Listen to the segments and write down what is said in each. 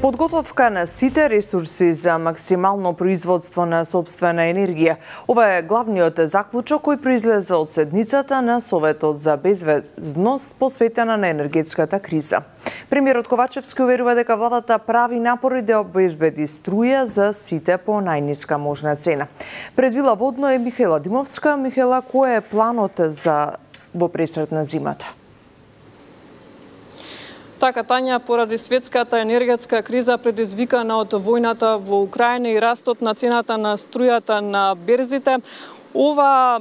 Подготовка на сите ресурси за максимално производство на сопствена енергија. Ова е главниот заклучок кој произлезе од седницата на Советот за безбедност посветена на енергетската криза. Премиерот Ковачевски уверува дека владата прави напори да обезбеди струја за сите по најниска можна цена. Пред Вила Водно е Михаела Димовска. Михаела, кој е планот за во пресрет на зимата? Така, Тања, поради светската енергетска криза предизвикана од војната во Украина и растот на цената на струјата на берзите, ова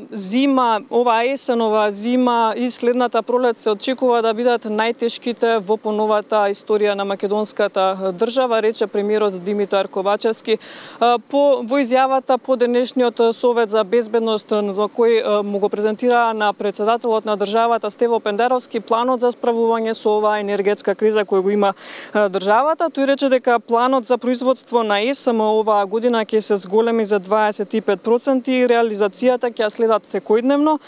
есенова зима и следната пролет се очекува да бидат најтешките во поновата историја на македонската држава, рече премиерот Димитар Ковачевски во изјавата по денешниот Совет за безбедност во кој му го презентира на председателот на државата Стево Пендеровски планот за справување со оваа енергетска криза која го има државата. Тој рече дека планот за производство на ЕСМ оваа година ќе се зголеми за 25% и реализацијата ќе следат секојдневно.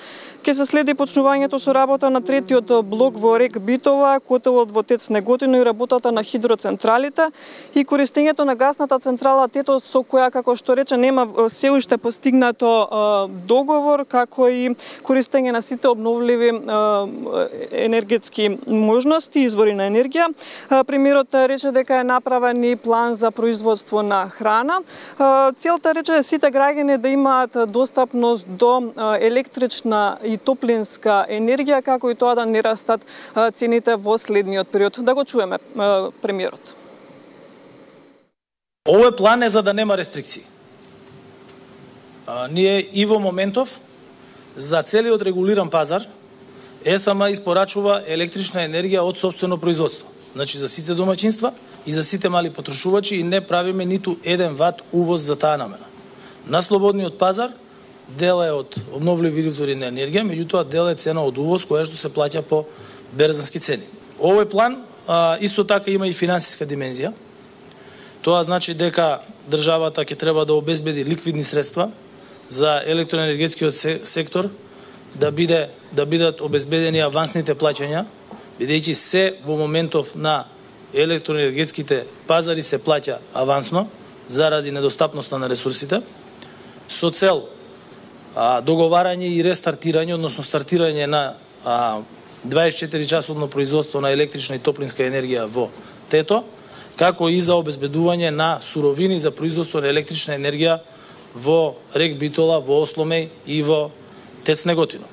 Ќе се следи почнувањето со работа на третиот блок во Рек Битола, котелот во ТЕЦ Неготино и работата на хидроцентралите и користењето на гасната централа Тето, со која, како што рече, нема се уште постигнато договор, како и користење на сите обновливи енергетски можности, извори на енергија. Премиерот рече дека е направен и план за производство на храна. Целта, рече, сите граѓани да имаат достапност до електрична и топлинска енергија, како и тоа да не растат цените во следниот период. Да го чуеме премиерот. Овој план е за да нема рестрикции. Ние и во моментов за целиот регулиран пазар ЕСМ испорачува електрична енергија од сопствено производство. Значи за сите домаќинства и за сите мали потрошувачи и не правиме ниту 1 ват увоз за таа намена. На слободниот пазар дел е од обновливи извори на енергија, меѓутоа дел е цена од увоз која што се плаќа по берзански цени. Овој план исто така има и финансиска димензија. Тоа значи дека државата ќе треба да обезбеди ликвидни средства за електроенергетскиот сектор, да бидат обезбедени авансните плаќања, бидејќи се во моментов на електроенергетските пазари се плаќа авансно заради недостапноста на ресурсите, со цел договарање и рестартирање, односно стартирање на 24-часовно производство на електрична и топлинска енергија во Тето, како и за обезбедување на суровини за производство на електрична енергија во Рек Битола, во Осломеј и во ТЕЦ Неготино.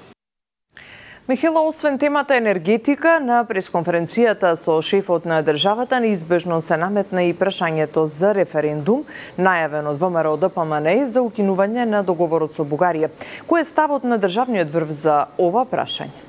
Михаела, освен темата енергетика, на пресконференцијата со шефот на државата неизбежно се наметна и прашањето за референдум, најавен од ВМРО ДПМН за укинување на договорот со Бугарија. Кој е ставот на државниот врв за ова прашање?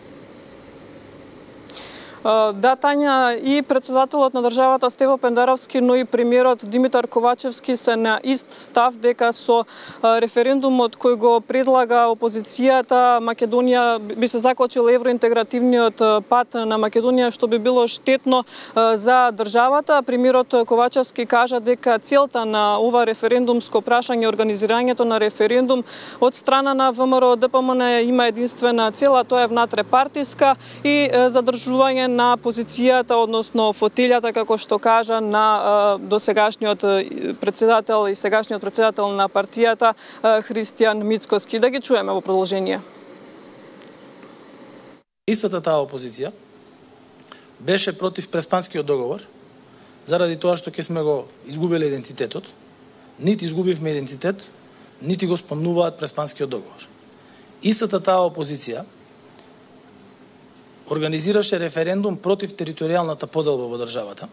Да, Тања, и председателот на државата Стево Пендеровски, но и премиерот Димитар Ковачевски се на ист став дека со референдумот кој го предлага опозицијата, Македонија би се закочил евроинтегративниот пат на Македонија, што би било штетно за државата. Премиерот Ковачевски кажа дека целта на ова референдумско прашање, организирањето на референдум од страна на ВМРО ДПМН има единствена цела, тоа е внатре-партиска и задржување на позицијата, односно фотелјата, како што кажа, на досегашниот председател и сегашниот председател на партијата Христијан Мицкоски. Да ги чуеме во продолжение. Истата таа опозиција беше против Преспанскиот договор, заради тоа што ќе сме го изгубиле идентитетот. Нити изгубивме идентитет, нити го спомнуваат Преспанскиот договор. Истата таа опозиција организираше референдум против територијалната поделба во државата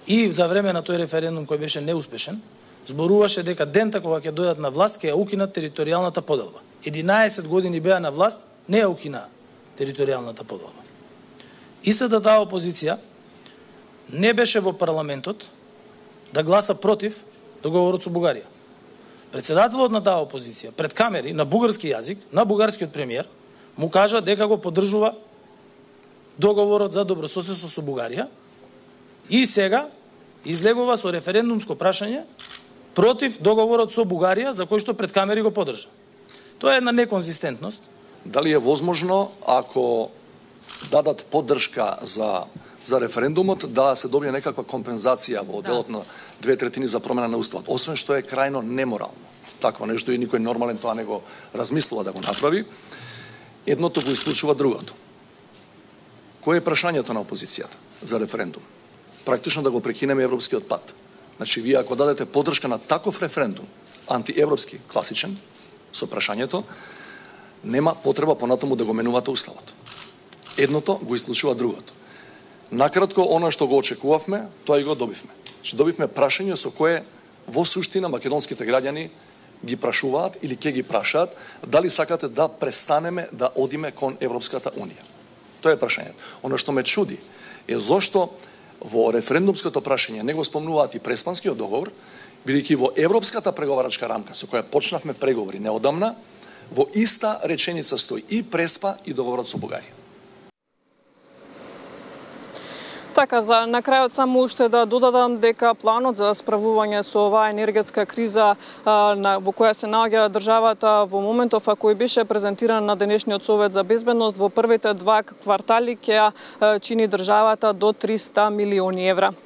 и за време на тој референдум кој беше неуспешен, зборуваше дека дента кога ќе дојдат на власт ќе ја укинат територијалната поделба. 11 години беа на власт, не ја укина територијалната поделба. Истата таа опозиција не беше во парламентот да гласа против договорот со Бугарија. Председателот на таа опозиција пред камери на бугарски јазик, на бугарскиот премиер, му кажа дека го поддржува договорот за добрососедство со Бугарија и сега излегува со референдумско прашање против договорот со Бугарија за кој што пред камери го поддржа. Тоа е една неконзистентност. Дали е возможно ако дадат поддршка за за референдумот да се добие некаква компензација во делот на 2/3 за промена на уставот, освен што е крајно неморално. Такво нешто и никој нормален тоа не го размислува да го направи. Едното го исклучува другото. Кој е прашањето на опозицијата за референдум? Практично да го прекинеме европскиот пат. Значи, вие ако дадете поддршка на таков референдум, антиевропски, класичен, со прашањето, нема потреба понатаму да го менувате уставот. Едното го исклучува другото. Накратко, оно што го очекувавме, тоа и го добивме. Значи, добивме прашање со кое во суштина македонските граѓани ги прашуваат или ќе ги прашаат дали сакате да престанеме да одиме кон Европската Унија. Тоа е прашањето. Оно што ме чуди е зошто во референдумското прашање не го спомнуваат и Преспанскиот договор, бидејќи во Европската преговарачка рамка со која почнавме преговори неодамна, во иста реченица стои и Преспа и договорот со Бугарија. Така, за на крајот само уште да додадам дека планот за справување со оваа енергетска криза во која се наоѓа државата во моментов, а кој беше презентиран на денешниот Совет за безбедност, во првите 2 квартали ќе чини државата до 300 милиони евра.